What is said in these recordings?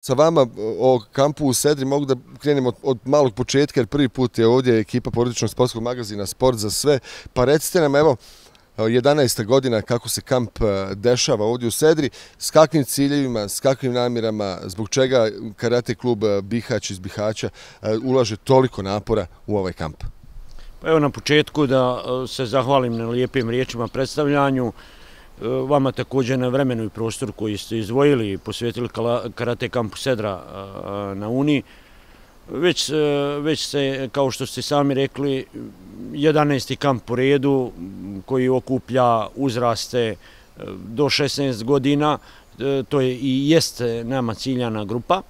Sa vama o kampu u Sedri mogu da krenemo od malog početka, jer prvi put je ovdje ekipa porodičnog sportskog magazina Sport za sve. Pa recite nam, evo, 11. godina kako se kamp dešava ovdje u Sedri, s kakvim ciljevima, s kakvim namjerama, zbog čega karate klub Bihać iz Bihaća ulaže toliko napora u ovaj kamp? Pa evo na početku da se zahvalim na lijepim riječima predstavljanju, vama također na vremenu i prostoru koji ste izdvojili i posvetili karate kampu Sedra na Uni. Već se, kao što ste sami rekli, 11. kamp po redu koji okuplja uzraste do 16 godina, to je i jeste nama ciljana grupa.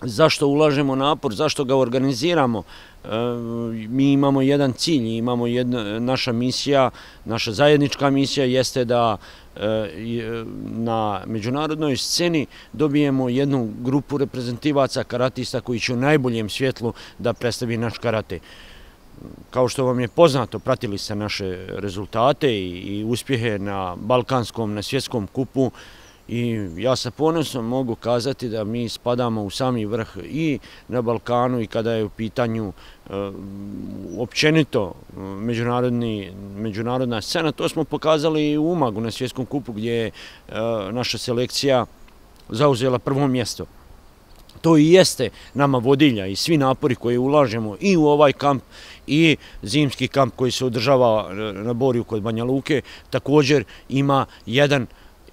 Zašto ulažemo napor, zašto ga organiziramo? Mi imamo jedan cilj, imamo naša misija, naša zajednička misija jeste da na međunarodnoj sceni dobijemo jednu grupu reprezentativaca karatista koji će u najboljem svjetlu da predstavi naš karate. Kao što vam je poznato, pratili ste naše rezultate i uspjehe na balkanskom, na svjetskom kupu. I ja sa ponosom mogu kazati da mi spadamo u sami vrh i na Balkanu i kada je u pitanju općenito međunarodna scena. To smo pokazali i u Umagu na svjetskom kupu gdje je naša selekcija zauzela prvo mjesto. To i jeste nama vodilja i svi napori koje ulažemo i u ovaj kamp i zimski kamp koji se održava na Borju kod Banja Luke također ima jedan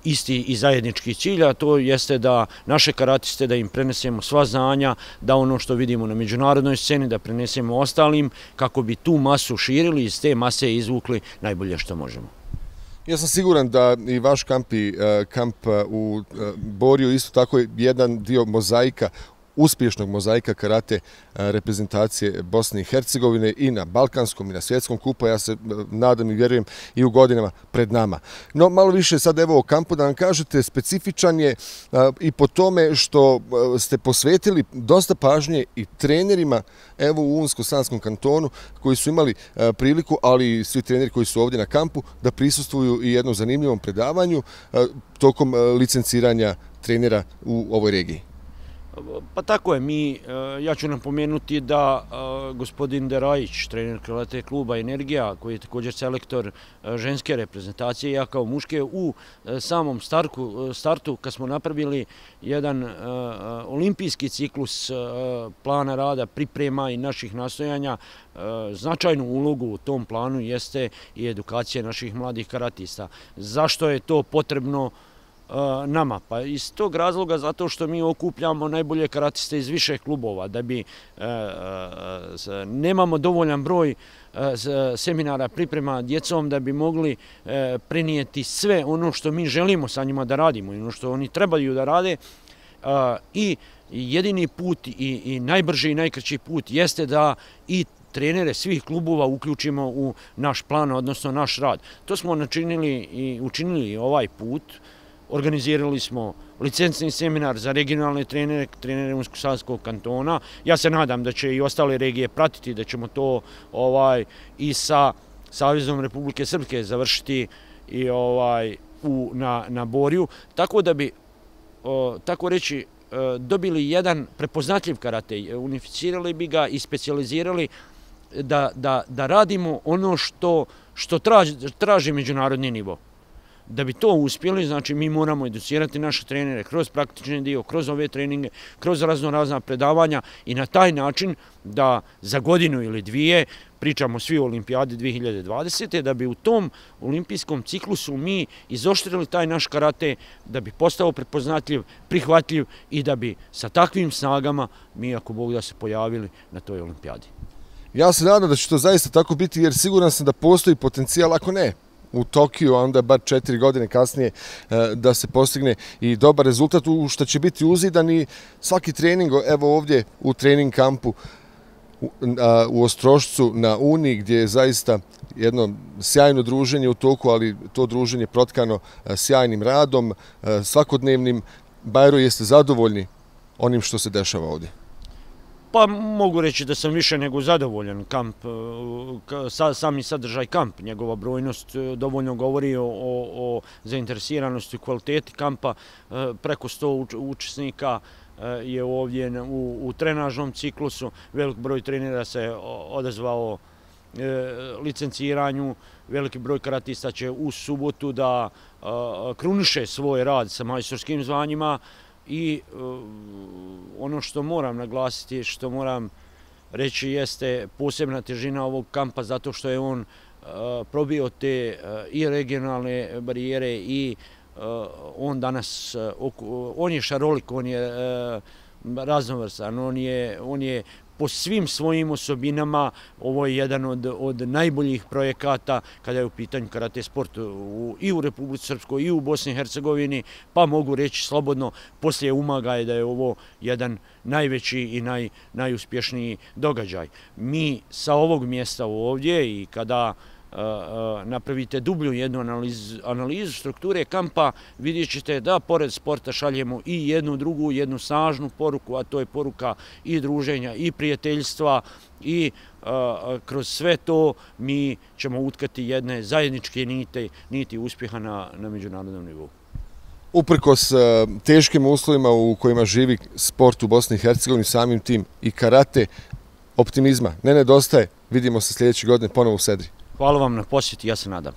isti i zajednički cilj, a to jeste da naše karatiste, da im prenesemo sva znanja, da ono što vidimo na međunarodnoj sceni, da prenesemo ostalim, kako bi tu masu širili i iz te mase izvukli najbolje što možemo. Ja sam siguran da i vaš kamp u Borju isto tako je jedan dio mozaika, uspješnog mozaika karate reprezentacije Bosne i Hercegovine i na balkanskom i na svjetskom kupu, ja se nadam i vjerujem i u godinama pred nama. No, malo više sad evo o kampu da nam kažete, specifičan je i po tome što ste posvetili dosta pažnje i trenerima evo u Unsko-Sanskom kantonu koji su imali priliku, ali i svi treneri koji su ovdje na kampu, da prisustvuju i jednom zanimljivom predavanju tokom licenciranja trenera u ovoj regiji. Pa tako je, ja ću napomenuti da gospodin Derajić, trener karate kluba Energija, koji je također selektor ženske reprezentacije, ja kao muške, u samom startu kad smo napravili jedan olimpijski ciklus plana rada, priprema i naših nastojanja, značajnu ulogu u tom planu jeste i edukacija naših mladih karatista. Zašto je to potrebno nama? Pa iz tog razloga zato što mi okupljamo najbolje karatiste iz više klubova, da bi nemamo dovoljan broj seminara priprema djecom da bi mogli prenijeti sve ono što mi želimo sa njima da radimo i ono što oni trebaju da rade. I jedini put i najbrži i najkraći put jeste da i trenere svih klubova uključimo u naš plan, odnosno naš rad. To smo učinili ovaj put. Organizirali smo licencni seminar za regionalne trenere Unsko-Sanskog kantona. Ja se nadam da će i ostale regije pratiti, da ćemo to i sa Savezom Republike Srpske završiti i na Borju, tako da bi, tako reći, dobili jedan prepoznatljiv karate, unificirali bi ga i specijalizirali da radimo ono što traži međunarodni nivo. Da bi to uspjeli, znači mi moramo educirati naše trenere kroz praktični dio, kroz ove treninge, kroz razna predavanja i na taj način da za godinu ili dvije, pričamo svi o Olimpijadi 2020. da bi u tom olimpijskom ciklusu mi izoštrili taj naš karate, da bi postao prepoznatljiv, prihvatljiv i da bi sa takvim snagama mi, ako Bog da, se pojavili na toj Olimpijadi. Ja se nadam da će to zaista tako biti, jer siguran sam da postoji potencijal, ako ne u Tokiju, a onda bar 4 godine kasnije da se postigne i dobar rezultat, u što će biti uzidan i svaki trening, evo ovdje u trening kampu u Ostrošcu na Uni, gdje je zaista jedno sjajno druženje u toku, ali to druženje protkano sjajnim radom, svakodnevnim. Bajro, jeste zadovoljni onim što se dešava ovdje? Pa mogu reći da sam više nego zadovoljan. Kamp, sami sadržaj kamp, njegova brojnost dovoljno govori o zainteresiranosti i kvaliteti kampa. Preko 100 učesnika je ovdje u trenažnom ciklusu. Velik broj trenera se odazvao licenciranju. Veliki broj karatista će u subotu da kruniše svoj rad sa majstorskim zvanjima. I ono što moram naglasiti, što moram reći jeste posebna težina ovog kampa zato što je on probio te i regionalne barijere i on danas, on je šarolik, on je raznovrstan, on je po svim svojim osobinama, ovo je jedan od najboljih projekata kada je u pitanju karate sport i u Republici Srpskoj i u Bosni i Hercegovini, pa mogu reći slobodno poslije Umaga je da je ovo jedan najveći i najuspješniji događaj. Mi sa ovog mjesta ovdje i kada napravite dublju jednu analizu strukture kampa, vidjet ćete da pored sporta šaljemo i jednu drugu, jednu snažnu poruku, a to je poruka i druženja i prijateljstva i kroz sve to mi ćemo utkati jedne zajedničke niti uspjeha na međunarodnom nivou. Uprkos teškim uslovima u kojima živi sport u Bosni i Hercegovini, samim tim i karate, optimizma ne nedostaje. Vidimo se sljedeće godine ponovo u Sedri. Hvala vam na posjeti, ja se nadam.